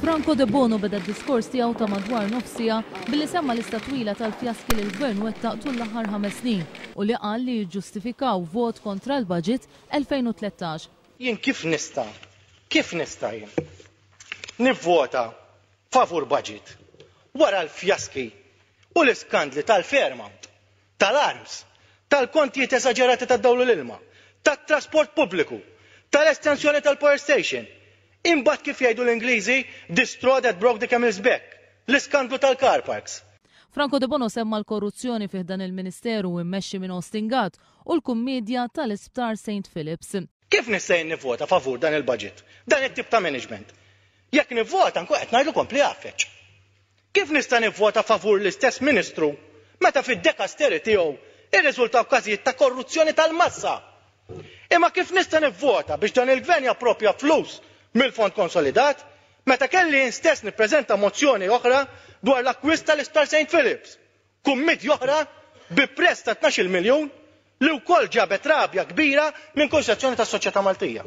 Franco Debono beda d-diskors tiegħu ta' madwar nofs siegħa billi semma lista twila tal-fjaski li l-Gvern wettaq tul l-aħħar ħames snin u li qal li jiġġustifikaw vot kontra l-Budget 2013. Jien kif nista', kif nista' jien nivvota favur budget wara l-fjaski u l-iskandli tal-Fairmount, tal-arms, tal-kontijiet esaġerati tad-dawl u l-ilma, tat-trasport pubbliku, tal-estensjoni tal-power station, imbagħad kif jgħidu l-Ingliżi the straw that broke the camel's back, l-iskandlu tal-car parks. Franco Debono semma l-korruzzjoni fi ħdan il-Ministeru immexxi minn Austin Gatt u l-kummiedja tal-Isptar Saint Philips. Kif nista' jien nivvota favur dan il-budget, dan it-tip ta' management? Jekk nivvota nkun qed ngħidlu kompli għaffeġ. Kif nista' nivvota favur l-istess Ministru meta fid-dekasteri tiegħu rriżultaw każijiet ta' korruzzjoni tal-massa? Imma kif nista' nivvota biex dan il-Gvern japproprja flus mill-Fond Konsolidat meta kelli jien stess nippreżenta mozzjoni oħra dwar l-akkwist tal-Isptar Saint Philips Kummiedja oħra bi prezz ta' 12-il miljun li wkoll ġabet rabja kbira minn kull sezzjoni tas-soċjetà Maltija.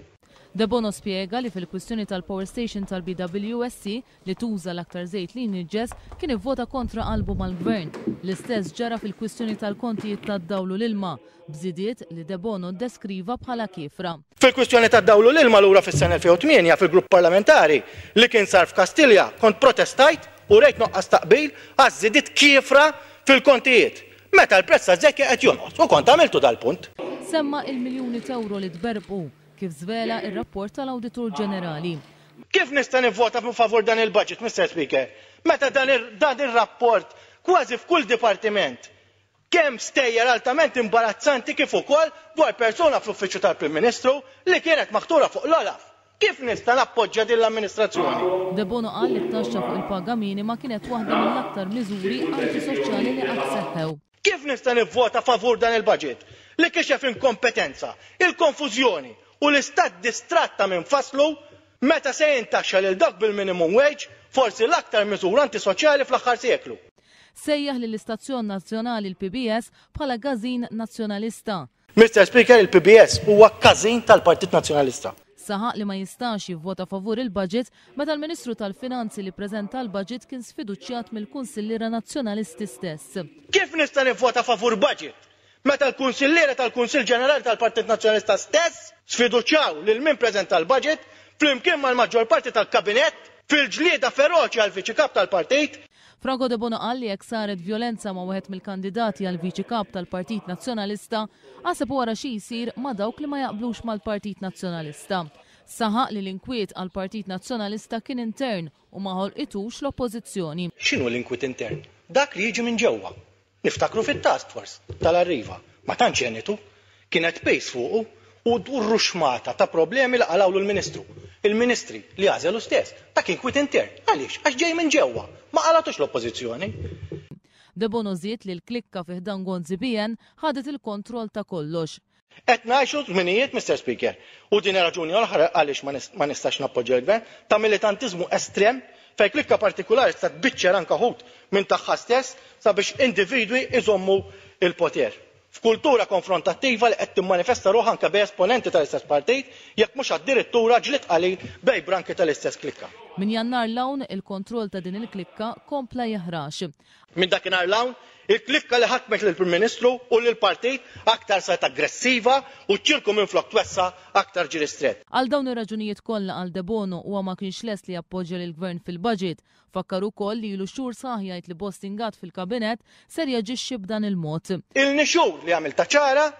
Debono spjega li fil-kwistjoni tal-power station tal-BWSC li tuża l-aktar żejt li jniġġes kien ivvota kontra qalbu mal-Gvern. L-istess ġara fil-kwistjoni tal-kontijiet tad-dawl u l-ilma, b'żidiet li Debono ddeskriva bħala kiefra. Fil-kwistjoni tad-dawl u l-ilma lura fis-sena 2008 fil-grupp parlamentari li kien sar f'Kastilja kont protestajt u rejt nuqqas ta' qbil għaż-żidiet kiefra fil-kontijiet meta l-prezz taż-żejt kien qed jonqos u kont għamiltu dal-punt. Semma il-miljuni t'ewro li tberbqu, kif żvela r-rapport tal-Awditur Ġenerali. Kif nista' nivvota favur dan il-budget, Mister Speaker, meta dan ir-rapport kważi f'kull dipartiment Kemm stejjer altament imbarazzanti kif ukoll dwar persuna fl-Uffiċċju tal-Prim Ministru li kienet maħtura fuq l-OLAF. Kif nista' nappoġġja din l-amministrazzjoni? Debono qal li t-taxxa fuq il-paga minima kienet waħda mill-aktar miżuri antisoċjali li qatt seħħew. Kif nista' nivvota favur dan il-budget li kixef inkompetenza, il-konfużjoni u l-istat distratt ta' min fasslu meta se jintaxxa lil dawk bil-minimum wage, forsi l-aktar miżura antisoċjali fl-aħħar seklu? Sejjaħ lill-istazzjon nazzjonali l-PBS bħala każin Nazzjonalista. Mister Speaker, il-PBS huwa każin tal-Partit Nazzjonalista. Saħaq li ma jistax jivvota favur il-budget meta l-Ministru tal-Finanzi li ppreżenta l-budget kien sfiduċjat mill-kunsilliera Nazzjonalisti stess. Kif nista' nivvota favur budget meta l-kunsilliera tal-Kunsill Ġenerali tal-Partit Nazzjonalista stess sfiduċjaw lil min preżenta l-budget flimkien mal-maġġor parti tal-Kabinett fil-ġlieda feroċi għall-Viċi Kap tal-Partit? Franco Debono qal li jekk saret vjolenza ma' wieħed mill-kandidati għal Viċi Kap tal-Partit Nazzjonalista, aħseb u ara xi jsir ma' dawk li ma jaqblux mal-Partit Nazzjonalista. Saħaq li l-inkwiet għall-Partit Nazzjonalista kien intern u ma ħolqitux l-Oppożizzjoni. X'inhu l-inkwiet intern? Dak li jiġi minn ġewwa. Niftakru fit-task force tal-Arriva, ma tantx għenitu. Kienet piż fuqu u ruxxmata ta' problemi li qalgħulu l-Ministru. Il-Ministri li għażel hu stess. Dak inkwiet intern. Għaliex? Għax ġej minn ġewwa. Ma qalgħatux l-Oppożizzjoni. Debono żied li l-klikka fi ħdan Gonzi PN ħadet il-kontroll ta' kollox. Qed ngħixu żminijiet, Mister Speaker, u din hi raġuni oħra għaliex ma nistax nappoġġja l-Gvern, ta' militantiżmu estrem fejn klikka partikulari tista' tbiċċer anke wħud minn tagħha stess sabiex individwi jżommu l-poter. F'kultura konfrontattiva li qed timmanifesta ruħha anke bejn esponenti tal-istess partit, jekk mhux addirittura ġlied qalil bejn branki tal-istess klikka. Minn Jannar 'l hawn, il-kontroll ta' din il-klikka kompla jeħrax. Minn dakinhar 'l hawn, il-klikka li ħakmet lill-Prim Ministru u lill-partit aktar saret aggressiva u ċ-ċirku minflok twessa' aktar ġie ristrett. Għal dawn ir-raġunijiet kollha, qal Debono, huwa ma kienx lest li jappoġġja lill-Gvern fil-budget. Fakkar ukoll li ilu xhur sħaħ jgħid li Bostin Gatt fil-Kabinett ser jaġixxi b'dan il-mod. Ilni xhur li għamiltha ċara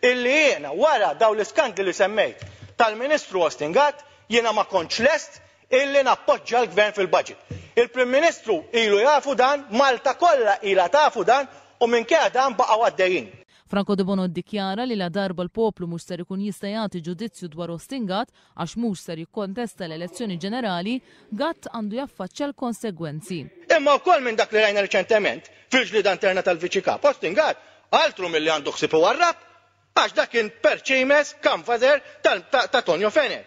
illi jiena wara dawn l-iskandli li semmejt tal-Ministru Austin Gatt jiena ma kontx lest illi nappoġġja l-Gvern fil-budget. Il-Prim Ministru ilu jafu dan, Malta kollha ilha tafu dan u minkejja dan baqgħu għaddejjin. Franco Debono ddikjara li ladarba l-poplu mhux ser ikun jista' jagħti ġudizzju dwar Austin Gatt għax mhux ser jikkontesta l-elezzjoni ġenerali, Gatt għandu jaffaċċja l-konsegwenzi. Imma wkoll minn dak li rajna riċentement fil-ġlieda interna tal-Viċi Kap, Austin Gatt altru milli għandu ħsieb iwarrab għax dak kien perċimes, canvasser ta' Tonio Fenech.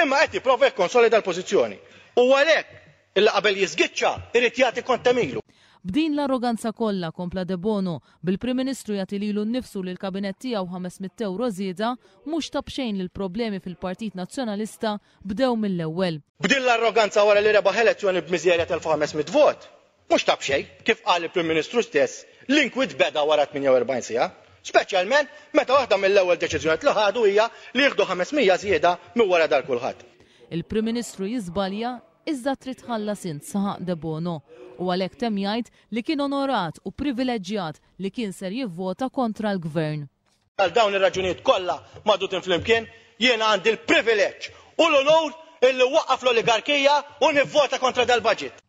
Imma qed jipprova jikkonsolida l-pożizzjoni. U għalhekk illi qabel jiżgiċċa jrid jagħti kont t'għemilu. B'din l-arroganza kollha, kompla Debono, bil-Prim Ministru jagħti lilu nnifsu u lill-Kabinett tiegħu 500 ewro żieda, mhux ta' b'xejn li l-problemi fil-Partit Nazzjonalista bdew mill-ewwel. B'din l-arroganza wara li rebaħ elezzjoni b'miżerja t'1,500 vot, mhux ta' b'xejn, kif qal il-Prim Ministru stess, l-inkwiet beda wara 48 siegħa. Speċjalment meta waħda mill-ewwel deċiżjonijiet li ħadu hija li jieħdu 500 żieda minn wara dar kulħadd. Il-Prim Ministru jiżbalja iżda trid tħallas int, saħaq Debono u għalhekk temm jgħid li kien onorat u privileġġjat li kien ser jivvota kontra l-Gvern. Għal dawn ir-raġunijiet kollha magħdudin flimkien, jiena għandi l-privileġġ u l-unur illi nwaqqaf l-oligarkija u nivvota kontra dal-budget.